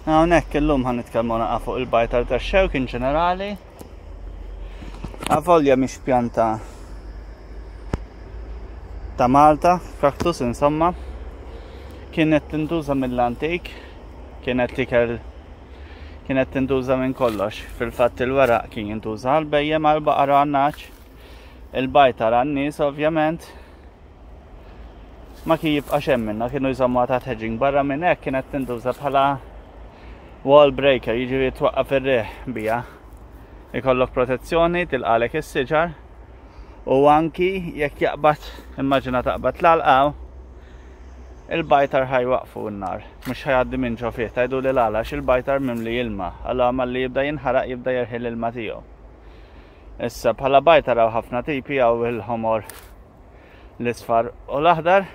Hawnhekk illum ħa nitkellmu naqa' fuq il-bajtar tax-xewk in ġenerali. Avolja mhix pjanta ta' Malta, kaktus insomma. Kienet tintuża mill-antik, kienet tikel kienet tintuża minn kollox. Fil-fatt il-weraq kien jintuża għal bejjem għal baqara għan-naċ, il-bajtar għan-nies ovvjament, ma kien jibqa' xejn minnha, kienu jżommuha taħt hedging. Barra minn hekk kienet tintuża bħala wall breaker, jiġifieri twaqqaf ir-riħ biha. Ikollok protezzjoni, tilqalek is-siġar u anki jekk jaqbad, immaġina taqbad l-għalqa il-bajtar ħajwaqfu n-nar, mhux ħajgħaddi minn ġo fih, tgħidu li l-għala il-bajtar mimli ilma, allura malli jibda jinħaraq jibda jerħi l-ilma tiegħu. Issa bħala bajtar hawn ħafna tipi hawn il-ħomor l-isfar u l-aħdar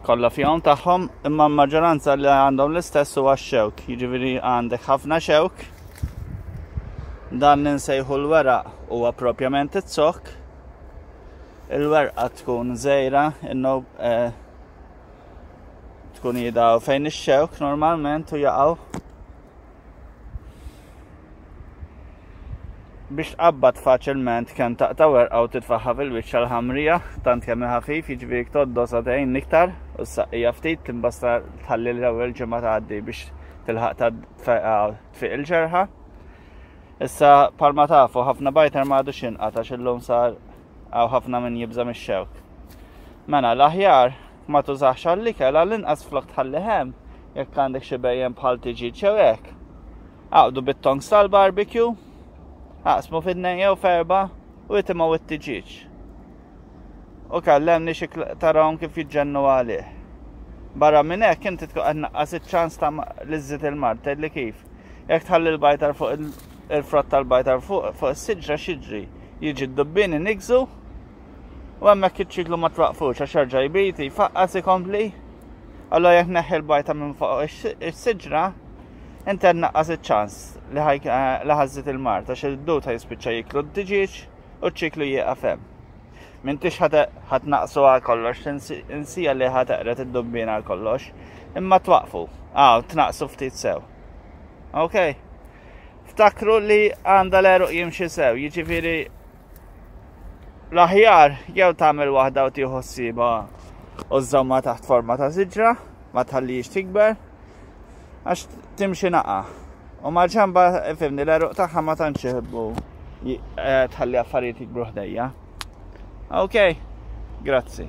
kollha fihom tagħhom, imma l-maġġoranza li għandhom l-istess huwa x-xewk, jiġifieri għandek ħafna xewk. Dan li nsejħu l-weraq huwa propjament iz-zokk. Il-werqa tkun żgħira, innu eh, tkun jida fejn ix-xewk normalment u jaqgħu Biex tqabbad faċilment kemm taqta' werqa u titfaħħa fil-wiċċ għall-ħamrija, tant kemm hi ħafif, jiġifieri jekk tgħoddosa tgħin iktar u ssaqqija ftit timbasta tħalli l-ewwel ġimgħa tgħaddi biex tilħaq tfiq il-ġerħa. Issa palma tafu ħafna bajtar ma għadux jinqata' għax illum sar hawn ħafna min jibża' mix-xewk. Mela l-aħjar ma tużax għall-ikel għall-inqas flok tħalli hemm jekk għandek xi bejjem bħal tiġi jew hekk. Aqdu bit-tongs tal-barbecue, aqsmu fid-tnejn jew f'erba' u itimgħu it-tiġieġ. U kellemni xi tarahom kif jiġġennu għalih. Barra minn hekk inti tkun qed naqqas iċ-ċans ta' li żżid il-mard, tgħidli kif. Jekk tħalli l-bajtar fuq il-frott tal-bajtar fuq fuq is-siġra x'jiġri? Jiġi d-dubbien inigżu u hemmhekk iċ-ċiklu ma twaqfux għax jerġa' jbid, jfaqqas ikompli. Allura jekk neħħi l-bajta minn fuq is-siġra, inti qed naqqas iċ-ċans li ħażżid il-mard għax id-dud ħajspiċċa jiklu d-tiġieġ u ċ-ċiklu jieqaf hemm. M'intix ħa tnaqqsu għal kollox, insija li ħa teqred id-dubbien għal kollox, imma twaqfu, għaw tnaqqsu ftit sew. Ok? Ftakru li għandha l-għeruq jimxi sew, jiġifieri l-aħjar jew tagħmel waħda u tieħu ssiba u żżommha taħt forma ta' siġra, ma tħallix tikber, Għax timxi naqa. U mal-ġamba, fimni, l-eruq tagħha ma tantx iħobbu eh, tħalli affarijiet jikbru ħdejja. Ok, grazzi.